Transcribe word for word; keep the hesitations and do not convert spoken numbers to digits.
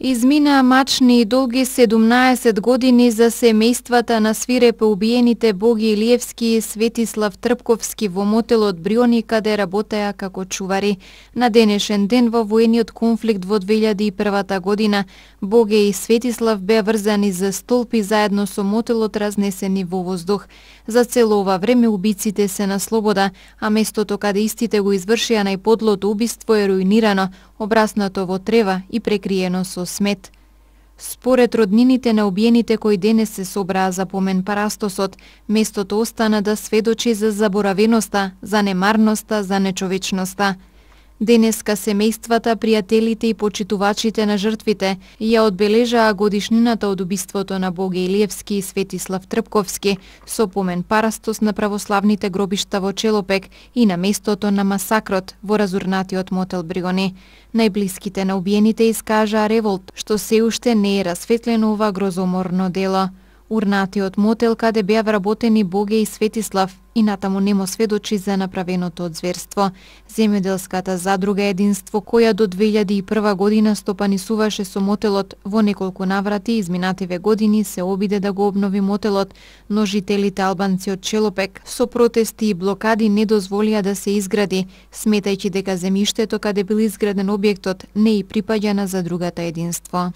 Измина мачни и долги седумнаесет години за семејствата на свирепо убиените Боги Илиевски и Светислав Трпковски во мотелот Бриони, каде работеа како чувари. На денешен ден во воениот конфликт во две илјади и првата година Боги и Светислав беа врзани за столб и заедно со мотелот разнесени во воздух. За цело ова време убиците се на слобода, а местото каде истите го извршија најподлото убиство е руинирано, обраснато во трева и прекриено со смет. Според роднините на убиените кои денес се собраа за помен парастосот, местото остана да сведочи за заборавеноста, за немарноста, за нечовечноста. Денеска семејствата, пријателите и почитувачите на жртвите ја одбележаа годишнината од убиството на Боги Илиевски и Светислав Трпковски со помен парастос на православните гробишта во Челопек и на местото на масакрот во разурнатиот мотел Бриони. Најблиските на убиените искажаа револт што се уште не е расветлено ова грозоморно дело. Урнатиот мотел каде беа вработени Боги и Светислав и натаму немо сведочи за направеното од зверство. Земјоделската задруга Единство, која до две илјади и прва година стопанисуваше со мотелот, во неколку наврати изминативе години се обиде да го обнови мотелот, но жителите албанци од Челопек со протести и блокади не дозволија да се изгради, сметајќи дека земјиштето каде бил изграден објектот не и припаѓа на задругата Единство.